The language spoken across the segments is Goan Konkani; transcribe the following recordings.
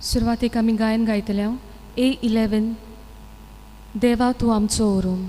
सुरवातेक आमी गायन गायतले A11 देवा तूं आमचो ओरूम.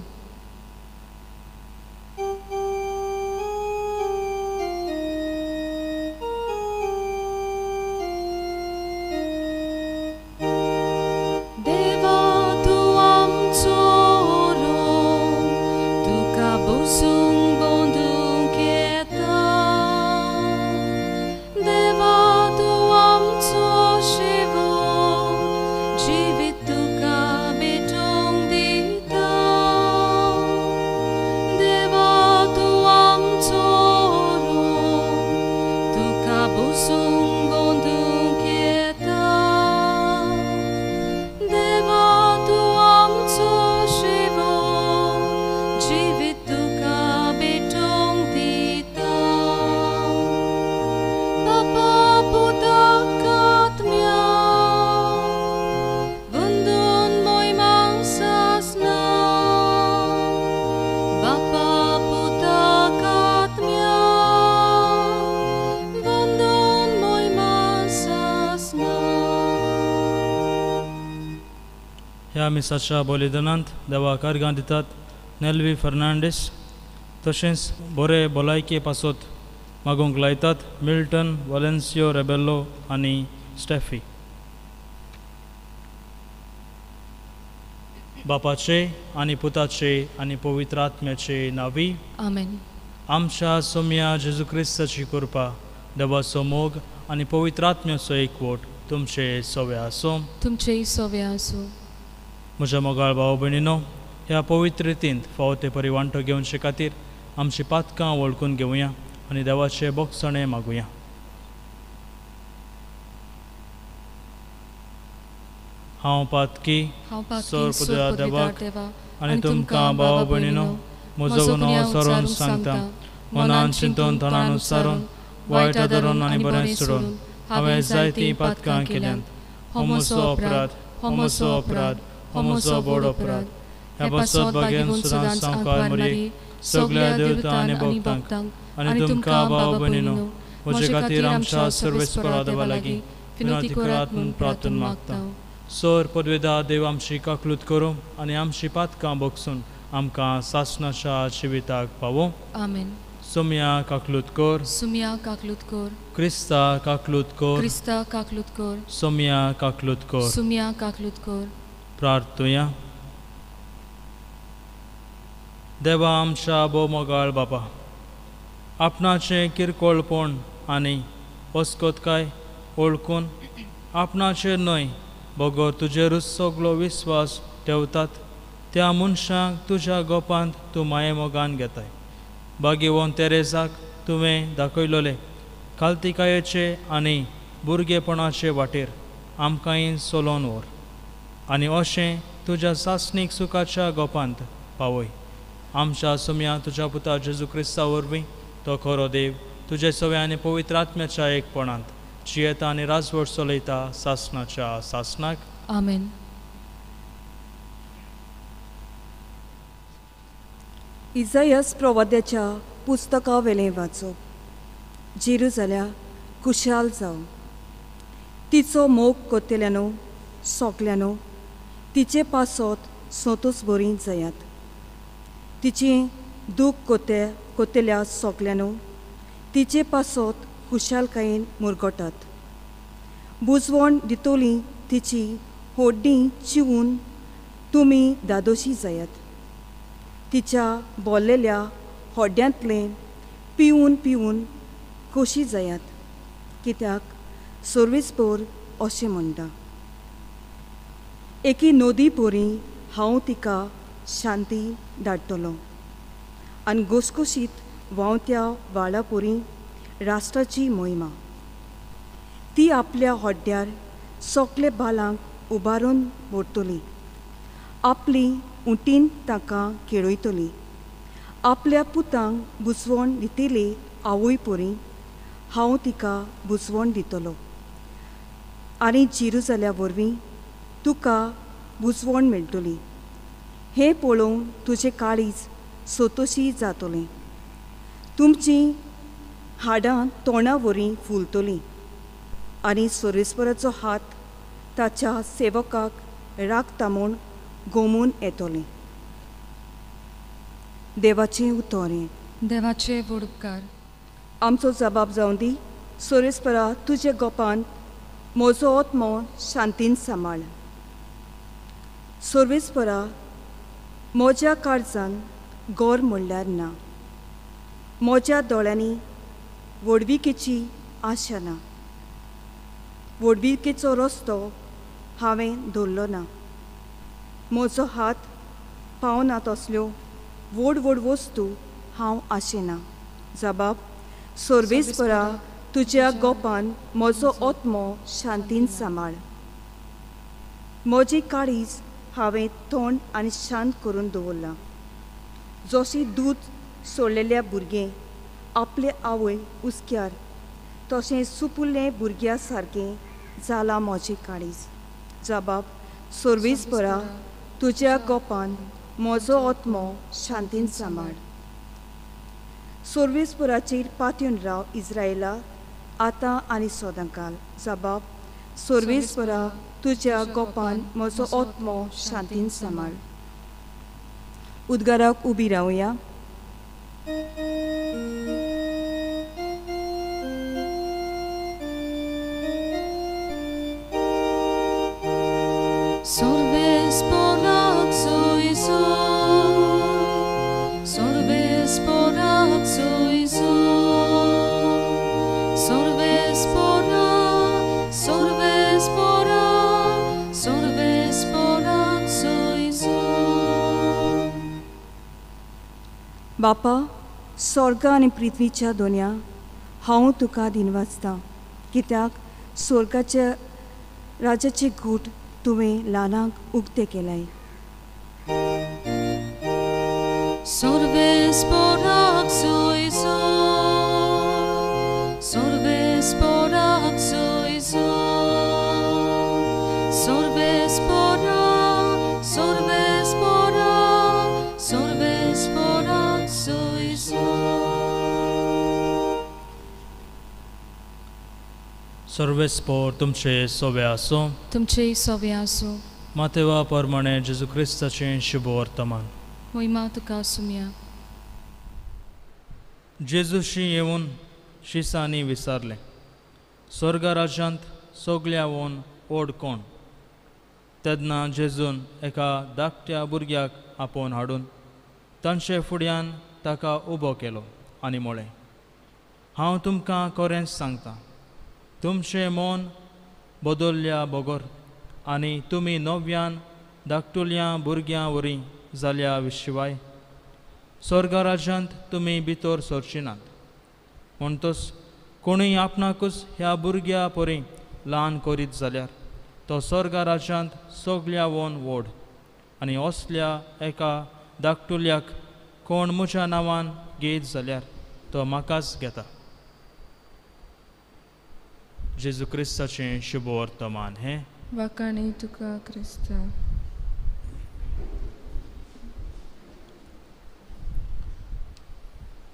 ह्या मिसाच्या बलिदानांत देवा कार्गां दितात नेल्वी फर्नांडीस, तशेंच बरे भलायके पासत मागूंक लायतात मिल्टन वालेन्सियो रेबेल्लो आनी स्टेफी. बापाचे आनी पुताचे आनी पवित्र आत्म्याचे नांवी आमेन. आमच्या सोम्या जेजू क्रिस्ताची कृपा, देवाचो मोग आनी पवित्र आत्म्याचो एकवट तुमचे सवे आसूं. तुमचेय सवे आसूं. म्हज्या मोगाळ भाव भयणीनो, ह्या पवित्र रितींत फावो ते परी वांटो घेवचे खातीर आमची पातकां वळखून घेवया आनी देवाचे बोगसणें मागुया. हांव पातकी सोर पुदया देवाक आनी तुमकां भाव भयणीनो म्हजो गुन्यांव सरोन सांगता. मनान चिंतून तणान उच्चारून वायट धरून आनी बरें सोडून हांवें जायतीं पातकां केल्यांत. हो म्हजो अपराध, हो म्हजो अपराध, हो म्हजो व्हड अपराध. ह्या पासत बागेन सदांच सामकार मरयेक सगळ्या देवता आनी भक्तांक आनी तुमकां भाव भयणीनो म्हजे खातीर आमच्या सर्वेस्परा देवा लागीं विनंती करात म्हूण प्रार्थना मागता. सर पदवेदा देव आमची काकलूत करूं आनी आमची पातकां बगसून आमकां सासणाच्या जिविताक पावो. आमेन. सोम्या काकलूत कर, सुम्या काकलूत कर, क्रिस्ता काकलूत कर, क्रिस्ता काकलूत कर, सोम्या काकलूत कर, सुम्या काकलूत कर. प्रार्थुया. देवा आमच्या भोवमोगाळ बापा, आपणाचें किरकोळपण आनी अस्कतकाय वळखून आपणाचेर न्हय बगर तुजेरूच सगलो विस्वास ठेवतात त्या मनशांक तुज्या गोपांत तूं मायेमोगान घेताय. बागेवन तेरेजाक तुवें दाखयलोले खालतिकायेचे आनी भुरगेपणाचे वाटेर आमकांय चलोवन व्हर आनी अशें तुज्या सासणीक सुखाच्या गोपांत पावय. आमच्या सोम्या तुज्या पुता जेजू क्रिस्ता वरवीं तो खरो देव तुजे सवे आनी पवित्र आत्म्याच्या एकपणांत जियेता आनी राजवट चलयता सासणाच्या सासणाक. आमेन. इजायस प्रवाद्याच्या पुस्तका वेलें वाचप. जेरुजाल्या खुशाल जावं, तिचो मोग कोत्तेल्यानो सोकल्यानो तिचे पासत सोतोच बरी जायात. तिची दूख कोते कोत्तेल्या सोकल्यानो तिचे पासत खुशालकायेन मुरगटात. बुजवण दितोली तिची होड्डी चिवून तुमी दादोशी जायात. तिच्या बोल्लेल्या होड्यांतलें पिवन पिवन खोशी जायात, कित्याक सर्वेस्पर अशें म्हणटा, एकी नदी परी हांव तिका शांती धाडटलो आनी घोसघोशीत व्हांवत्या व्हाळा परी राष्ट्राची मोहिमा. ती आपल्या होड्ड्यार सोकले बालांक उबारून व्हरतली, आपली उंटीन तांकां खेळयतली, आपल्या पुतांक बुजवण दितली आवय परी हांव तिका बुजवण दितलो आनी जेरुजाल्या वरवीं तुका बुजवण मेळटली. हें पळोवन तुजें काळीज सोतोशी जातलें, तुमचीं हाडां तोंडा वरी फुलतलीं आनी सर्वेस्पराचो हात ताच्या सेवकाक राखता म्हूण गोमून येतलें. देवाचें उतोरें. देवाचे व्हड उपकार. आमचो जबाब जावं दी, सोरेस्परा तुजे गोपान म्हजो आत्मो शांतीन सांबाळ. सर्वेस्परा म्हज्या काळजान गोर म्हणल्यार ना, म्हज्या दोळ्यांनी व्हडविकेची आशा ना, व्हडविकेचो रस्तो हांवें धरलो ना, म्हजो हात पावना तसल्यो व्हड व्हड वस्तू हांव आशेना. जबाब, सर्वेस्परा तुज्या गोपान म्हजो आत्मो शांतीन सांबाळ. म्हजी काळीज हांवें थंड आनी शांत करून दवरलां, जशें दूद सोडलेल्या भुरगें आपले आवय हुस्क्यार तशें सुपुल्लें भुरग्या सारकें जालां म्हजें काळीज. जबाब, सर्वेस्परा तुज्या गोपान म्हजो आत्मो शांतीन सांबाळ. सर्वेस्पराचेर पातयेवन राव इस्रायला, आतां आनी सदांकाल. जबाब, सर्वेस्परा तुज्या गोपान म्हजो आत्मो शांतीन सांबाळ. उद्गाराक उबी रावया. बापा, स्वर्ग आनी पृथ्वीच्या दोनया हांव तुका दिनवासतां, कित्याक स्वर्गाच्या राजाचे घूट तुवें ल्हानांक उक्ते केलाय. सर्वेस्पोर तुमचे सोवे आसूं. तुमचे सोवे आसूं. मातेवा प्रमाणे जेजू क्रिस्ताचें शुभ वर्तमान. महिमा तुका सुमया. जेजूशी येवन शिसांनी विचारलें, स्वर्ग राज्यांत सगळ्यावन व्हड कोण? तेन्ना जेजून एका धाकट्या भुरग्याक आपोवन हाडून तांचे फुड्यान ताका उबो केलो आनी म्हळें, हांव तुमकां खरेंच सांगता, तुमचें मन बदलल्या बगर आनी तुमी नव्यान धाकटुल्या भुरग्यां वरी जाल्या शिवाय स्वर्ग राज्यांत तुमी भितर सरची नात. म्हणटच कोणूय आपणाकूच ह्या भुरग्या परी ल्हान करीत जाल्यार तो स्वर्ग राज्यांत सगळ्यावन व्हड, आनी असल्या एका धाकटुल्याक कोण म्हज्या नांवान घेयत जाल्यार तो म्हाकाच घेता. जेजू क्रिस्ताचें शुभ वर्तमान हें. वाखाणी तुका क्रिस्ता.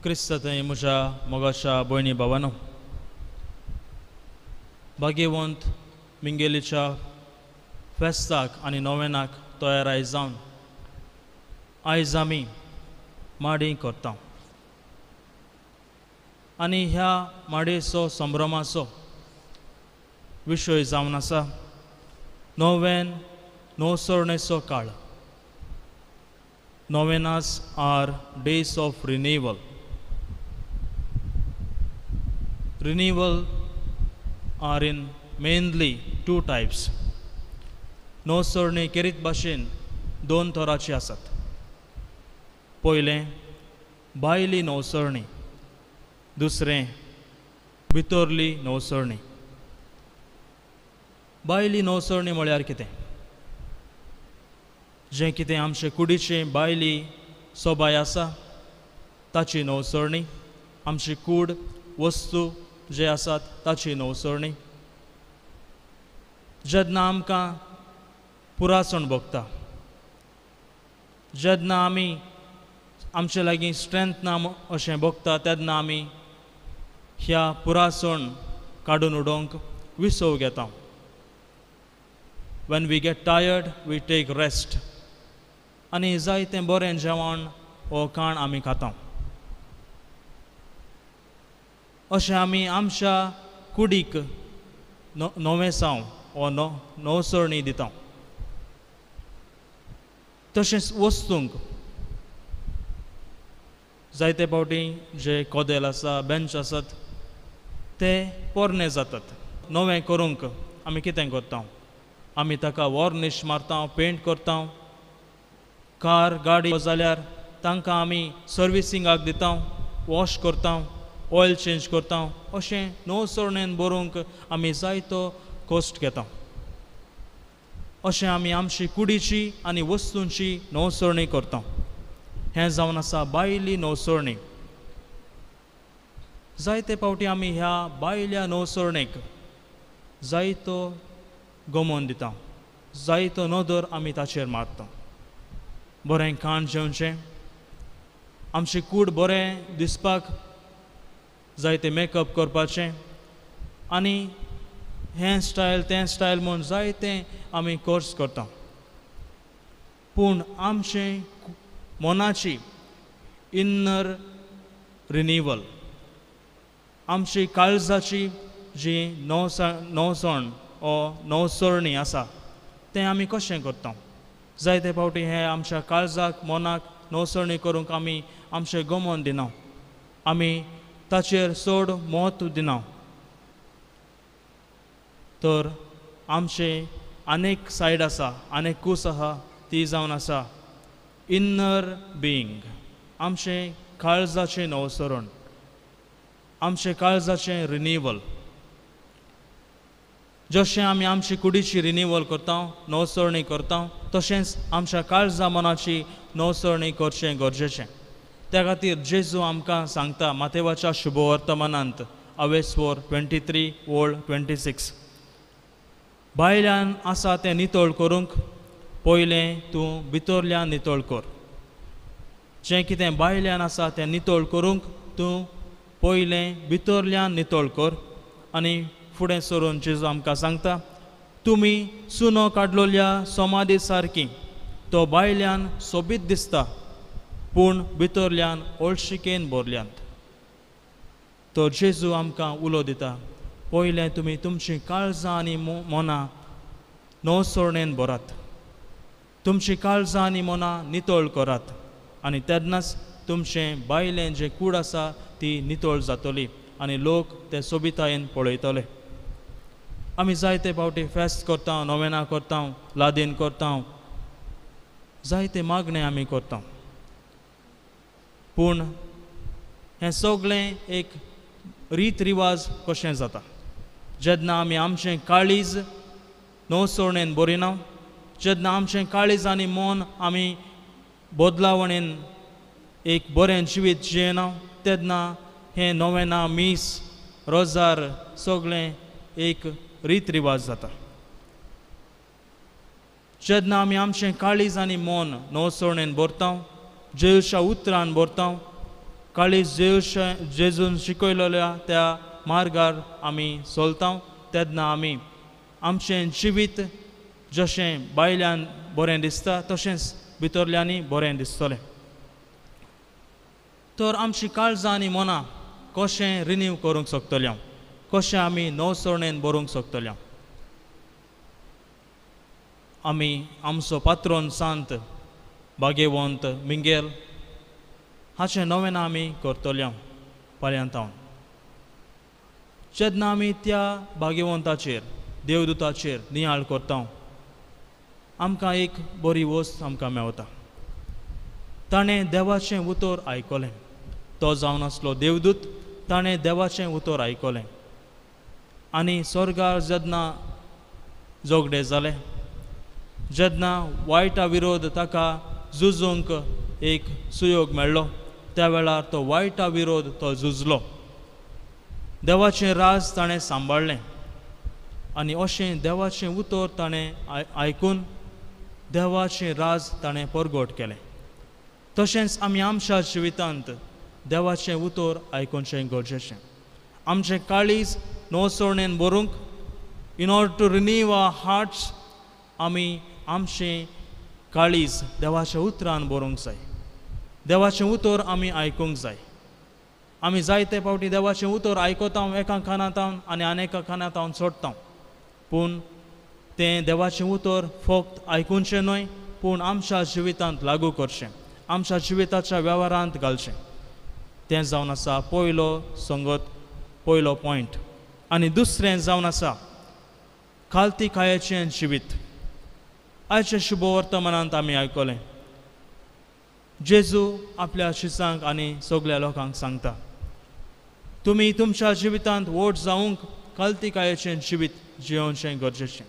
क्रिस्ता थंय म्हज्या मोगाच्या भयणी भावानो, भाग्यवंत मिंगेलीच्या फेस्ताक आनी नोवेनाक तयाराय जावन आयज आमी माडी करता आनी ह्या माडयेचो संभ्रमाचो विशय जावन आसा नोवेन नवसरणेचो काळ. Novenas are days of renewal. Renewal are in mainly two types. नवसरणी केरीत भाशेन दोन तरांची आसात. पयलें भायली नवसरणी, दुसरें भितरली नवसरणी. भायली नवसरणी म्हळ्यार कितें? जें कितें आमचे कुडीचें भायली सोबाय आसा ताची नवसरणी, आमची कूड वस्तू जे आसात ताची नवसरणी. जेन्ना आमकां पुरासण भोगता, जेन्ना आमी आमचे लागीं स्ट्रेंथ ना अशें भोगता, तेन्ना आमी ह्या पुरासण काडून उडोवंक विसव घेता. When we get tired we take rest आनी जायतें बरें जेवण वो खाण आमी खाता. अशें आमी आमच्या कुडीक नवेसांव वो नवसरणी दिता. तशेंच वस्तूंक जायते फावटी जे कोदेल आसा, बेंच आसात ते पोरणे जातात. नवें करूंक आमी कितें करता? आमी ताका वॉर्निश मारता, पेंट करता. कार गाडी जाल्यार तांकां आमी सर्विसिंगाक दिता, वॉश करता, ऑयल चेंज करता. अशें नवसरणेन बरोवंक आमी जायतो कश्ट घेता. अशें आमी आमची कुडीची आनी वस्तूंची नवसरणी करता. हें जावन आसा बायली नवसरणी. जायते फावटी आमी ह्या बायल्या नवसरणेक जायतो गमोन दिता, जायतो नदर आमी ताचेर मारता. बरें खाण जेवचें, आमची कूड बरें दिसपाक जायते मेकअप करपाचें आनी हें स्टायल तें स्टायल म्हूण जायतें आमी कोर्स करता. पूण आमचें मनाची इन्नर रिनिवल, आमची काळजाची जी नवसण ओ नवसरणी आसा तें आमी कशें करता? जायते फावटी हें आमच्या काळजाक मनाक नवसरणी करूंक आमी आमचें गमन दिना, आमी ताचेर चड म्हत्व दिना. तर आमचें आनेक सायड आसा, आनेक कूस आसा, ती जावन आसा इन्नर बिईंग, आमचें काळजाचें नवसरण, आमचें काळजाचें रिनिवल. जशें आमी आमची कुडीची रिनिवल करता, नवसरणी करता, तशेंच आमच्या काळजा मनाची नवसरणी करचें गरजेचें. त्या खातीर जेजू आमकां सांगता मातेवाच्या शुभवर्तमानांत अवेस्वोर 23 ओळ 26, भायल्यान आसा तें नितळ करूंक पयलें तूं भितरल्यान नितळ कर. जें कितें भायल्यान आसा तें नितळ करूंक तूं पयलें भितरल्यान नितळ कर. आनी फुडें सरून जेजू आमकां सांगता, तुमी चुनो काडलोल्या समाधी सारकी, तो भायल्यान सोबीत दिसता पूण भितरल्यान ओळशिकेन भरल्यांत. तो जेजू आमकां उलो दिता, पयलें तुमी तुमचीं काळजां आनी मनां नवसरणेन भरात, तुमचीं काळजां आनी मनां नितळ करात आनी तेन्नाच तुमचें बायलें जें कूड आसा ती नितळ जातली आनी लोक ते सोबितायेन पळयतले. आमी जायते फावटी फेस्त करता, नोवेनां करता, लादीन करता, जायते मागणें आमी करता. पूण हें सगळें एक रीत रिवाज कशें जाता जेन्ना आमी आमचें काळीज नवसरणेन बरिना, जेन्ना आमचें काळीज आनी मन आमी बदलावणेन एक बरें जिवीत जियेना, तेन्ना हें नोवेनां, मीस, रोजार सगळें एक रीत रिवाज जाता. जेन्ना आमी आमचें काळीज आनी मन नवसरणेन भरता, जेजूच्या उतरान भरता, काळीज जेजूच्या जेजून शिकयलेल्या त्या मार्गार आमी चलता, तेन्ना आमी आमचें जिवीत जशें भायल्यान बरें दिसता तशेंच भितरल्यांनी बरें दिसतलें. तर आमची काळजां आनी मनां कशें रिन्यू करूंक शकतले, कशें आमी नवसरणेन बरोवंक शकतले? आमी आमचो पात्रोन सांत भाग्यवंत मिंगेल हाचें नवें आमी करतले फाल्यांतावन. जेन्ना आमी त्या भाग्यवंताचेर देवदूताचेर नियाळ करता, आमकां एक बरी वस्त आमकां मेवता. ताणें देवाचें उतर आयकलें, तो जावन आसलो देवदूत, ताणें देवाचें उतर आयकलें आनी स्वर्गार जेन्ना झगडे जाले, जेन्ना वायटा विरोध ताका झुजूंक एक सुयोग मेळ्ळो, त्या वेळार तो वायटा विरोध तो झुजलो, देवाचें राज ताणें सांबाळ्ळें आनी अशें देवाचें उतर ताणें आयकून देवाचें राज ताणें परगट केलें. तशेंच आमी आमच्या जिवितांत देवाचें उतर आयकुचें गरजेचें. आमचें काळीज नवसरणेन भरूंक, in order to renew our hearts, आमी आमचें काळीज देवाच्या उतरान बरोवंक जाय. देवाचें उतर आमी आयकूंक जाय. आमी जायते फावटी देवाचें उतर आयकता एका कानांत आनी आनी एका कानांत सोडटा, पूण तें देवाचें उतर फक्त आयकुचें न्हय, पूण आमच्या जिवितांत लागू करचें, आमच्या जिविताच्या वेव्हारांत घालचें. तें जावन आसा पयलो संगत, पयलो पॉयंट. आनी दुसरें जावन आसा खालतीकायेचें जिवीत. आयच्या शुभवर्तमानांत आमी आयकलें जेजू आपल्या शिसांक आनी सगल्या लोकांक सांगता, तुमी तुमच्या जिवितांत व्हड जावंक खालतीकायेचें जिवीत जियोवचें गरजेचें,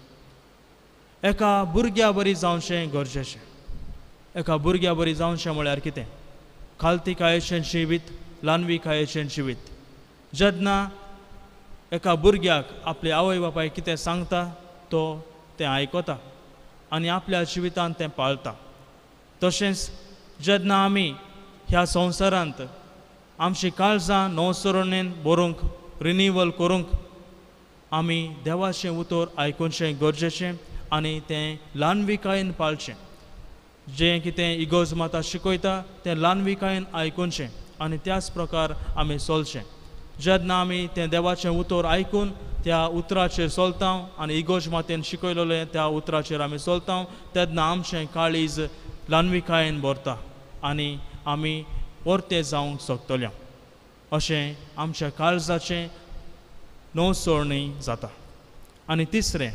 एका भुरग्या बरी जावचें गरजेचें. एका भुरग्या बरी जावचें म्हळ्यार कितें? खालतीकायेचें जिवीत, ल्हानविकायेचें जिवीत. जेन्ना एका भुरग्याक आपले आवय बापाय कितें सांगता तो तें आयकता आनी आपल्या जिवितांत तें पाळता. तशेंच जेन्ना आमी ह्या संवसारांत आमची काळजां नवसरणेन बरोवंक, रिनिवल करूंक आमी देवाचें उतर आयकुचें गरजेचें आनी तें ल्हानविकायेन पाळचें. जें कितें इगोर्ज माता शिकयता तें ल्हानविकायेन आयकुचें आनी त्याच प्रकार आमी चलचें. जेन्ना आमी तें देवाचें उतर आयकून त्या उतराचेर चलता आनी इगोर्ज मातेन शिकयलेलें त्या उतराचेर आमी चलता तेन्ना आमचें काळीज ल्हानविकायेन भरता आनी आमी परते जावंक शकतले. अशें आमच्या काळजाचें नवसरणी जाता. आनी तिसरें,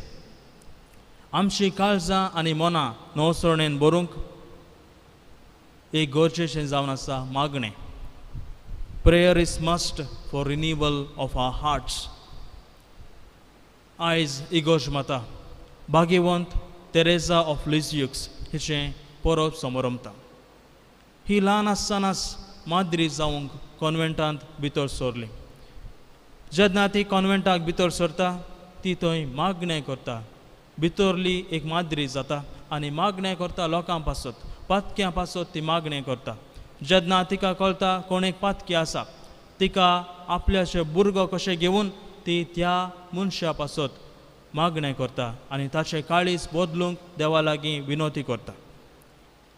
आमची काळजां आनी मनां नवसरणेन भरूंक एक गरजेचें जावन आसा मागणें. Prayer is must for renewal of our hearts. आयज इगोर्ज माता भाग्यवंत तेरेजा ऑफ लिज्युक्स हिचें परब समरमता. ही ल्हान आसतनाच माद्री जावंक कॉन्वेंटांत भितर सरली. जेन्ना ती कॉन्वेंटाक भितर सरता ती थंय मागणें करता, भितरली एक माद्री जाता आनी मागणें करता लोकां पासत, पातक्यां पासत ती मागणें करता. जेन्ना तिका कळटा कोण एक पातकी आसा, तिका आपल्याचे भुरगो कशें घेवन ती त्या मनशा पासत मागणें करता आनी ताचें काळीज बदलूंक देवा लागीं विनवती करता.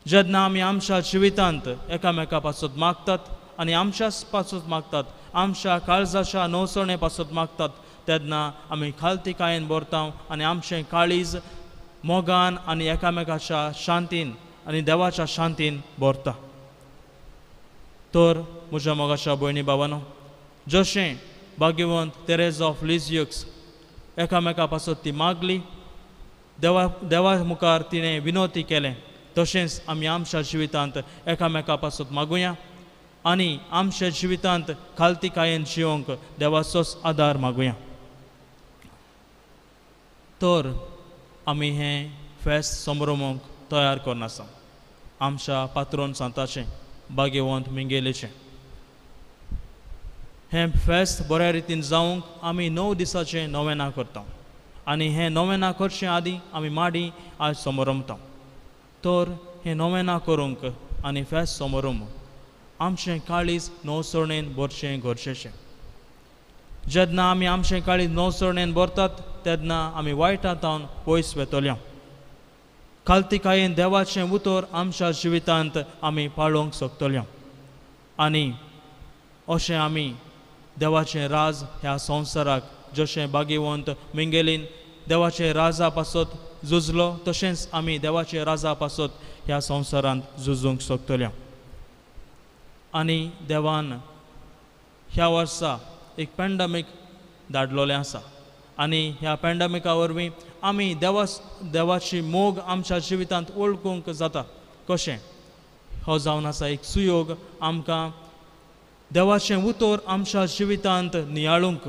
जेन्ना आमी आमच्या जिवितांत एकामेका पासत मागतात आनी आमच्याच पासत मागतात, आमच्या काळजाच्या नवसणे पासत मागतात, तेन्ना आमी खालतीकायेन भरता आनी आमचें काळीज मोगान आनी एकामेकाच्या शांतीन आनी देवाच्या शांतीन भरता. तर म्हज्या मोगाच्या भयणी बाबानो, जशें भाग्यवंत तेरेजा ऑफ लिज्युक्स एकामेका पासत ती मागली, देवा मुखार तिणें विनवती केलें, तशेंच आमी आमच्या जिवितांत एकामेका पासत मागुया आनी आमच्या जिवितांत खालतीकायेन जिवंक देवाचोच आदार मागुया. तर आमी हें फेस्त समरोमूंक तयार करून आसा आमच्या पात्रोन सांताचें भाग्यवंत मिंगेलेचें. हें फेस्त बऱ्या रितीन जावंक आमी 9 दिसाचें नोवेनां करता आनी हें नोवेनां करचे आदीं आमी माडी आज समरमता. तर हें नोवेनां करूंक आनी फेस्त समरोम आमचें काळीज नवसरणेन भरचें गरजेचें. जेन्ना आमी आमचें काळीज नवसरणेन भरतात तेन्ना आमी वायटां तावन पयस वेतल्या. खालतीकायेन देवाचें उतर आमच्या जिवितांत आमी पाळोवंक शकतल्या आनी अशें आमी देवाचें राज ह्या संवसाराक जशें भाग्यवंत मिंगेलीन देवाचे राजा पासत झुजलो तशेंच आमी देवाचे राजा पासत ह्या संवसारांत झुजूंक शकतल्या. आनी देवान ह्या वर्सा एक पॅन्डमीक धाडलेलें आसा आनी ह्या पॅन्डमिका वरवीं आमी देवाची मोग आमच्या जिवितांत वळखूंक जाता. कशें हो जावन आसा एक सुयोग आमकां देवाचें उतर आमच्या जिवितांत नियाळूंक.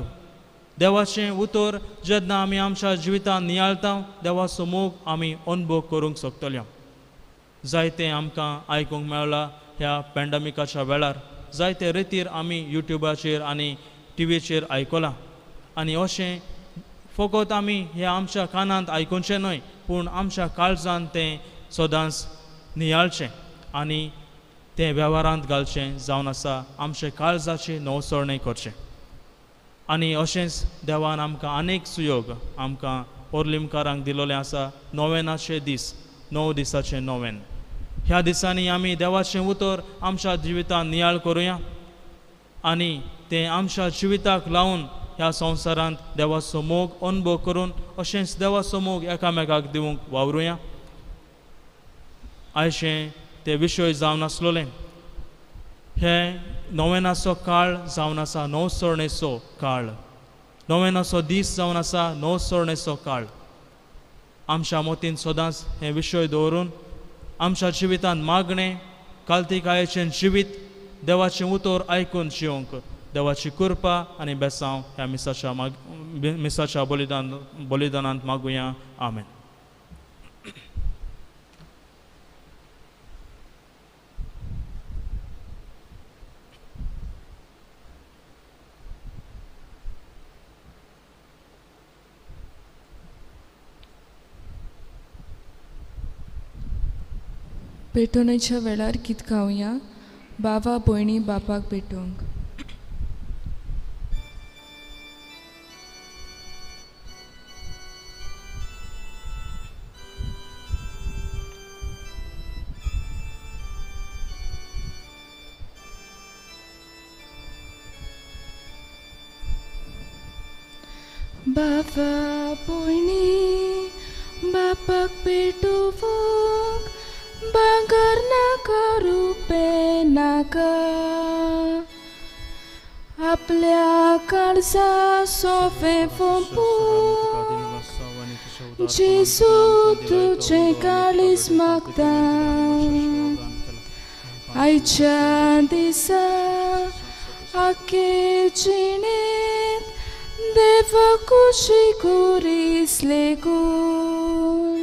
देवाचें उतर जेन्ना आमी आमच्या जिवितांत नियाळता देवाचो मोग आमी अनुभव करूंक शकतले. जायतें आमकां आयकूंक मेळ्ळां ह्या पॅन्डमिकाच्या वेळार, जायते रितीर आमी युट्युबाचेर आनी टिवीचेर आयकलां आनी अशें फकत आमी हे आमच्या कानांत आयकुचें न्हय, पूण आमच्या काळजांत तें सदांच नियाळचें आनी तें वेव्हारांत घालचें जावन आसा आमचे काळजाची नवसरणे करचें. आनी अशेंच देवान आमकां अनेक सुयोग आमकां ओर्लिमकारांक दिलोलें आसा नोवेनाचे दीस, 9 दिसाचें नोवेन। ह्या दिसांनी आमी देवाचें उतर आमच्या जिवितांत नियाळ करुया आनी तें आमच्या जिविताक लावन ह्या संवसारांत देवाचो मोग अनुभव करून अशेंच देवाचो मोग एकामेकाक दिवंक वावरुया। आयचें ते विशय जावन आसलोले हे नोवेनाचो काळ जावन आसा नवसरणेचो काळ, नोवेनाचो दीस जावन आसा नवसरणेचो काळ। आमच्या मतीन सदांच हे विशय दवरून आमच्या जिवितांत मागणें, कालतिकायेचें जिवीत, देवाचें उतर आयकून जिवंक देवाची कृपा आनी बेसांव ह्या मिसाच्या बलिदानांत मागुया। आमेन। पेटोवणेच्या वेळार गीत गावया बाबा भयणी बापाक पेटोवंक। बाबा भयणी बापाक पेटोवंक भांगर नाका रुपें नाका, आपल्या काळजा सोफे फोंपूंक जेजू तुजें काळीज मागता। आयच्या दिसा आखे जिणेंत देवा कुशी कुरीस लेगून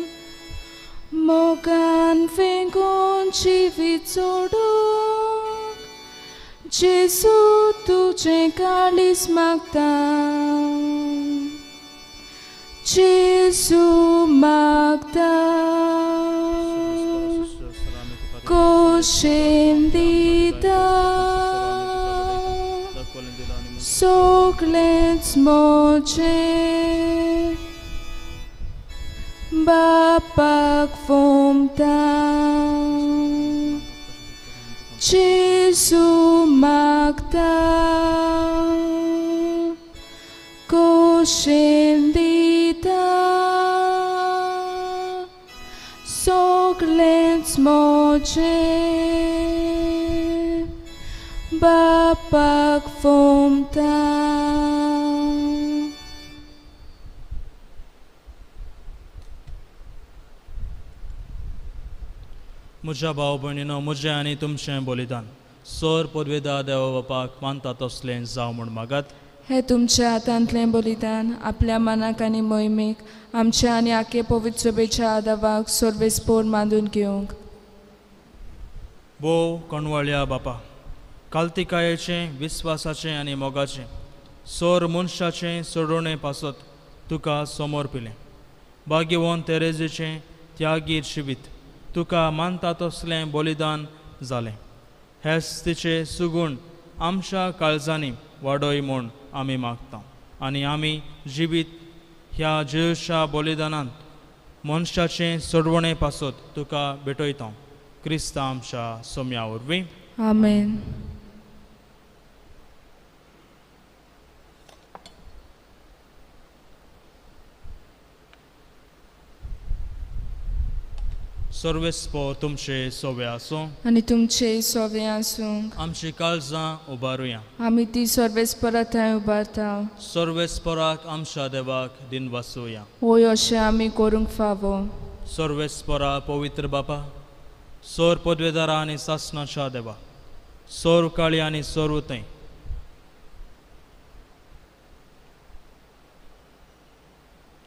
मोगान वेंगून जिवीत सोडूंक जेजू तुजें काळीज मागता, जेजू मागता। कोशेन दिता सगळेंच म्हजें बापाक फोमता, जेजू मागता। कोशेन दिता सगळेंच म्हजें बापाक फोमता। म्हज्या भाव भयणीनो, म्हजें आनी तुमचें बलिदान सर पदवेदा देवा बापाक मानता तसलें जावं म्हूण मागात। हे तुमच्या हातांतलें बलिदान आपल्या मनाक आनी मोहिमेक आमच्या आनी आखे पवित्र सभेच्या आदावाक सर्वेस्पोर मांदून घेवंक। भोव कणवळ्या बापा, कालतिकायेचें, विस्वासाचें आनी मोगाचें सर मनशाचें सोडोवणे पासत तुका समोर पिलें। भाग्यवंत तेरेजेचें त्यागीर शिबीत तुका मानता तसलें बलिदान जालें। हेच तिचें सुगूण आमच्या काळजांनी वाडय म्हूण आमी मागता आनी आमी जिवीत ह्या जेजूच्या बलिदानांत मनशाचें सोडवणे पासत तुका भेटयता। क्रिस्ता आमच्या सोम्या वरवीं। आमेन। सर्वेस्पोर तुमचे सोवे आसूं आनी तुमचे सोवे आसूं। आमची काळजां उबारुया, आमी ती सर्वेस्पोरा थंय उबारता। सर्वेस्पोराक आमच्या देवाक दिन वासुया, होय अशें आमी करूंक फावो। सर्वेस्पोरा पवित्र बापा, सोर पदवेदारा आनी सासणाच्या देवा, सोर काळी आनी सोर थंय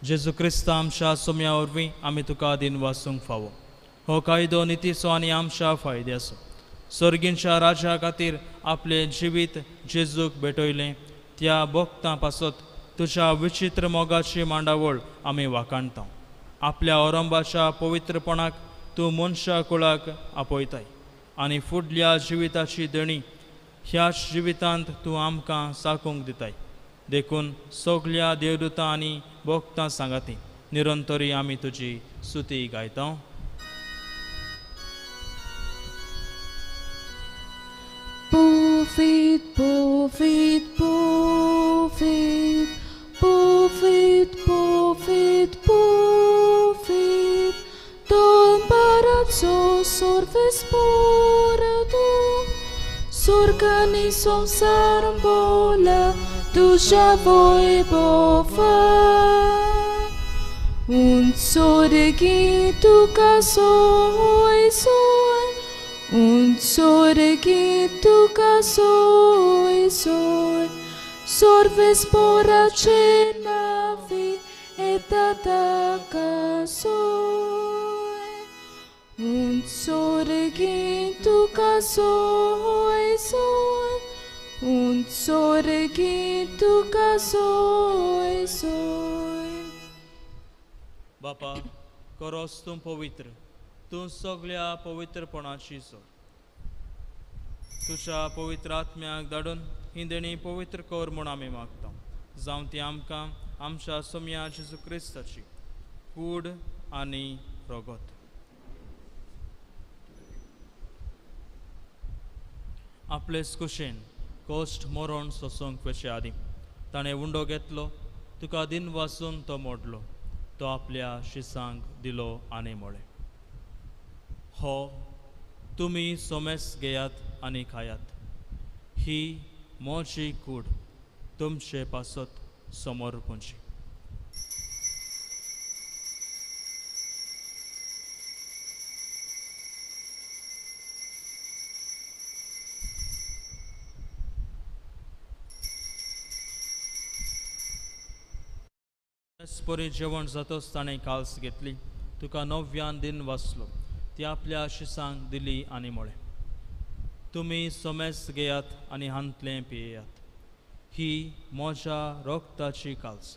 जेजू क्रिस्ता आमच्या सोम्या वरवीं आमी तुका दिन वासूंक फावो। हो कायदो नितीचो आनी आमच्या फायद्याचो सर्गींच्या राजा खातीर आपलें जिवीत जेजूक भेटयलें त्या भक्तां पासत तुज्या विचित्र मोगाची मांडावळ आमी वाखाणता। आपल्या औरंबाच्या पवित्रपणाक तूं मनशा कुळाक आपयताय आनी फुडल्या जिविताची देणी ह्याच जिवितांत तूं आमकां साकूंक दिताय। देखून सगल्या देवदूतां आनी भक्तां सांगाती निरंतरी आमी तुजी स्तुती गायता. Pofit, pofit, pofit, pofit, pofit, pofit, Don barazzo sorves porto, s'organisom sarambola, tuja voi bofa. Un sorgi tu casoi soi, un sorgi tu casoi soi, sorves pora cenavi et atacasoi. Un sorgi tu casoi soi, un sorgi tu casoi soi. बापा करोस तूं पवित्र, तूं सगळ्या पवित्रपणाची सोड. तुज्या पवित्र आत्म्याक धाडून ही देणी पवित्र कर म्हूण आमी मागता. जावं ती आमकां आमच्या सोम्या जेजू क्रिस्ताची कूड आनी रगत. आपलेच कुशेन कश्ट मरण सोसूंक वचचे आदीं ताणें उंडो घेतलो, तुका दिन वासून तो मोडलो, तो आपल्या शिसांक दिलो आनी म्हळें, हो तुमी सोमेस घेयात आनी खायात, ही म्हजी कूड तुमचे पासत समर्पणची. परी जेवण जातच ताणें काल्स घेतली, तुका नव्यान दिन वाचलो, ती आपल्या शिसांक दिली आनी म्हळें, तुमी सोमेस घेयात आनी हांतलें पियेयात, ही म्हज्या रगताची काल्स,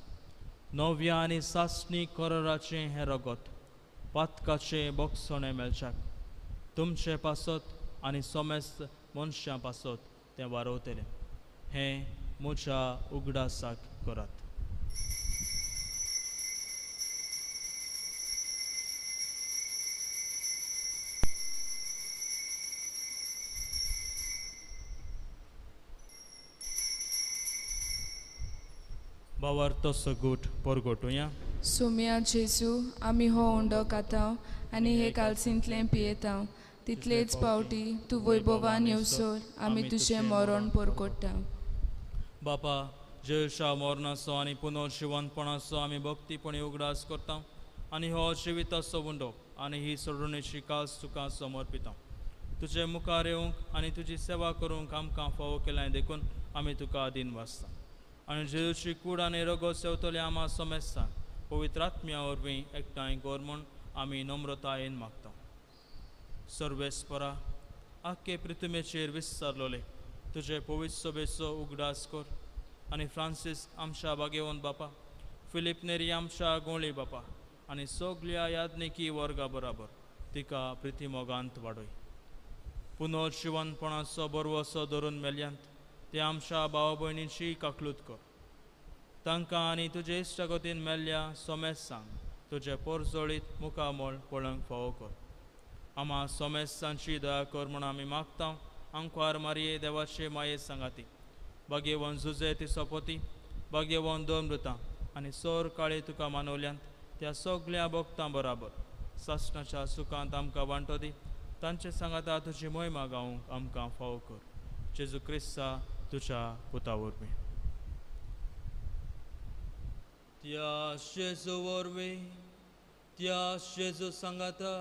नव्या आनी सासणी कराराचें हें रगत पातकाचें बोगसणें मेळच्याक तुमचे पासत आनी सोमेस्त मनशां पासत तें वारवतलें. हें म्हज्या उगडासाक करात. बावर तसो गूट परगटुया. सोम्या जेजू, आमी हो उंडो खाता आनी हे कालसींतलें पियेता, तितलेच पावटी तूं वैभवान येवसर आमी तुजें मरण परगट्टा. बापा, जेजूच्या मरणाचो आनी पुनर्जिवंतपणाचो आमी भक्तीपणी उगडास करता आनी हो जिविताचो उंडो आनी ही सोडणेची कास तुका समर्पिता. तुजे मुखार येवंक आनी तुजी सेवा करूंक आमकां फावो केलां देखून आमी तुका आदीन वाचता. आनी जेजूची कूड आनी रगत सेवतले आमा समेस्तान पवित्र आत्म्या वरवीं एकठांय कर म्हूण आमी नम्रतायेन मागता. सर्वेस्परा, आख्खे पृथ्वीचेर विस्तारलोले तुजे पवित्र सभेचो उगडास कर आनी फ्रांसीस आमच्या बागेवन बापा, फिलीप नेरी आमच्या गोंळी बापा आनी सगल्या याज्ञिकी वर्गा बराबर तिका प्रितीमोगांत वाडय. पुनर्जिवनपणाचो बरवसो धरून मेल्यांत ते आमच्या भाव भयणींची काकलूत कर. तांकां आनी तुजे इश्टागतीन मेल्ल्या सोमेस्तांक तुजे पोरजोळीत मुखामळ पळोवंक फावो कर. आमा सोमेस्तांची दया कर म्हूण आमी मागता. आंकवार मारये देवाचे माये सांगाती, भाग्यवन जुजे ती सोपोती, भाग्यवन दोन मृतां आनी सोर काळे तुका मानवल्यांत त्या सगल्या भक्तां बराबर सासणाच्या सुखांत आमकां वांटो दी. तांचे सांगाता तुजी मोहिमा गावंक आमकां फावो कर. जेजू क्रिस्ता तुज्या पुता वरवीं. त्या जेजू वरवीं, त्या जेजू सांगाता,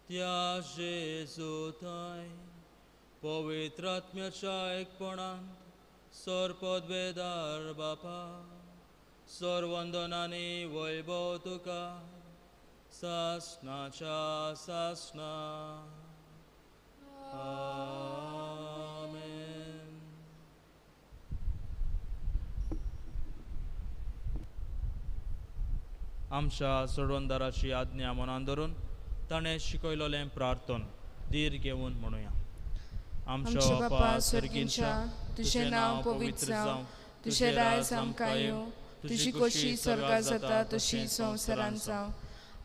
त्या जेजू थंय पवित्र आत्म्याच्या एकपणांत सरपदवेदार बापा, सर्वंदनानी वैभव तुका सासणाच्या सासणा. आमेन. आमच्या सोडवणदाराची आज्ञा मनान धरून ताणें शिकयलेलें प्रार्थन धीर घेवन म्हणुया. आमच्या बापा स्वर्गींच्या, तुजें नांव पवित्र जावं, तुजें राज आमकां येवं, तुजी खोशी स्वर्गार जाता तशी संवसारांत जावं.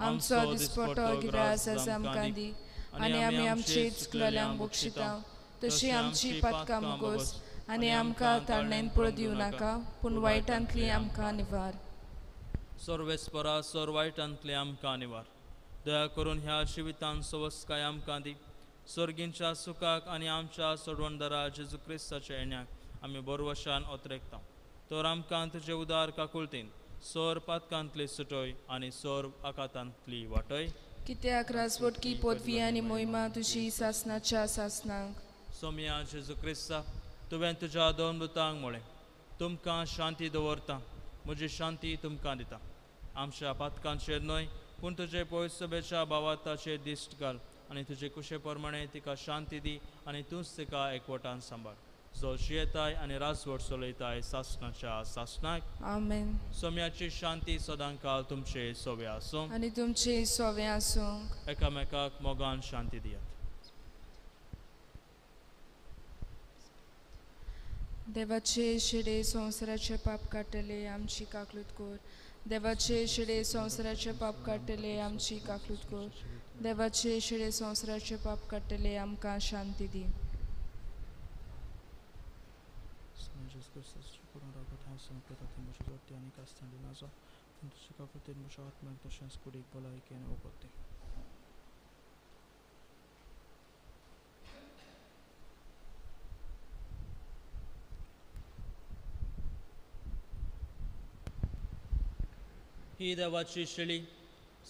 आमचो दिसपटो गिरास आज आमकां दी आनी आमी आमचे चुकलेल्यांक बक्षिता तशी आमची पातकां मुगोस आनी आमकां ताळणेन पळ दिवं नाका पूण वायटांतली आमकां निवार. सर्वेस्परा सर वायटांतली आमकां निवार. दया करून ह्या जिवितान सवस्काय आमकां दी. सर्गींच्या सुखाक आनी आमच्या सोडवणदारा जेजू क्रिस्ताच्या येण्याक आमी बरवशान ओतरेकता. तर आमकां तुजे उदार काकुळतीन सोर पातकांतली सुटय आनी सोर आकातांतली वाटय. कित्याक राजवटकी पदवी आनी मोहिमा तुजी सासनाच्या सासनाक. सोमया जेजू क्रिस्ता, तुवें तुज्या दोन दुतांक म्हळें, तुमकां शांती दवरता, म्हजी शांती तुमकां दिता. आमच्या पातकांचेर न्हय पूण तुजे पयसभेच्या भावार्थाचेर दिश्ट घाल आनी तुजे कुशे प्रमाणे तिका शांती दी आनी तूंच तिका एकवटान सांबाळ, जो जियेताय आनी राजवट चलयताय सासनाच्या सासनाक. आमेन. सोम्याची शांती सदांकाल तुमचे सोवे आसूं आनी तुमचे सोवे आसूं. एकामेकाक मोगान शांती दियात. देवाचे शेडे संवसाराचे पाप काडटले आमची काकलूत कर. देवाचे शेडे संवसाराचे पाप काडटले आमची काकलूत कर. देवाचे शेडे संवसाराचे पाप काडटले आमकां शांती दी. ही देवाची शेळी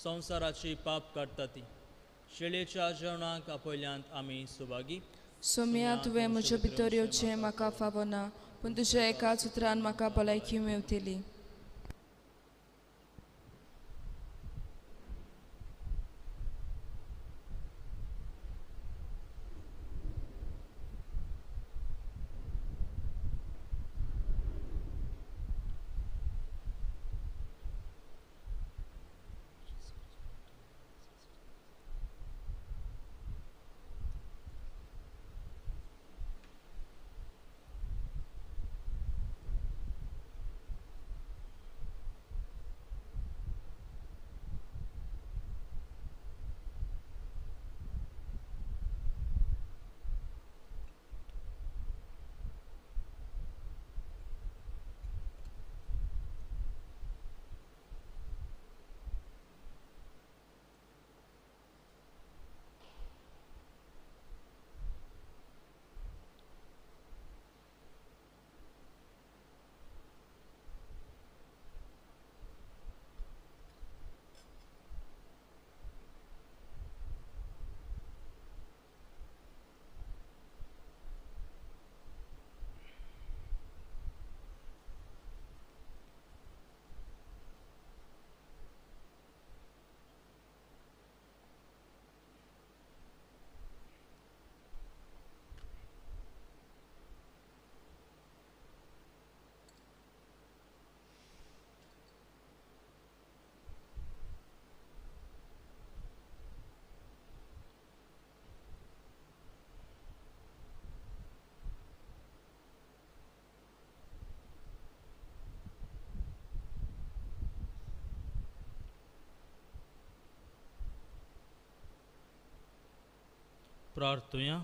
संवसाराची पाप काडटा ती. शेळयेच्या जेवणाक आपयल्यांत आमी सुभागी. सोम्या, तुवें म्हजे भितर येवचें म्हाका फावना पूण तुज्या एकाच उतरान म्हाका भलायकी मेवतली. प्रार्थुया.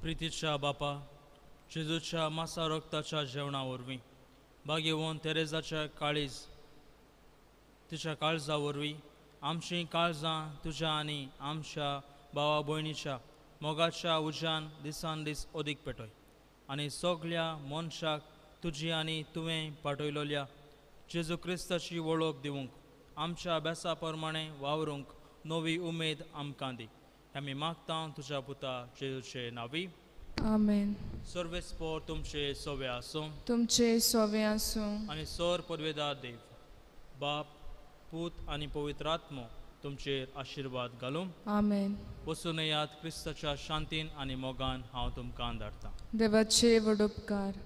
प्रितीच्या बापा, जेजूच्या मासा रक्ताच्या जेवणा वरवीं भाग्यवंत तेरेजाच्या काळीज तिच्या काळजा वरवीं आमचीं काळजां तुज्या आनी आमच्या भावा भयणीच्या मोगाच्या उज्यान दिसान दीस अदीक पेटय आनी सगल्या मनशाक तुजी आनी तुवें पाठयलोल्या जेजू क्रिस्ताची वळख दिवंक आमच्या अभ्यासा प्रमाणे वावरूंक नवी उमेद आमकां दी. आमी मागता तुज्या पुता जेजूचे नावी. आमेन. सर्वेस्पोर तुमचे सोवे आसूं. तुमचे सोवे आसूं. आनी सर पदवेदार देव बाप पूत आनी पवित्र आत्मो तुमचेर आशिर्वाद घालूं. आमेन. वचून येयात क्रिस्ताच्या शांतीन आनी मोगान हांव तुमकां धाडटा. देवाचे व्हड उपकार.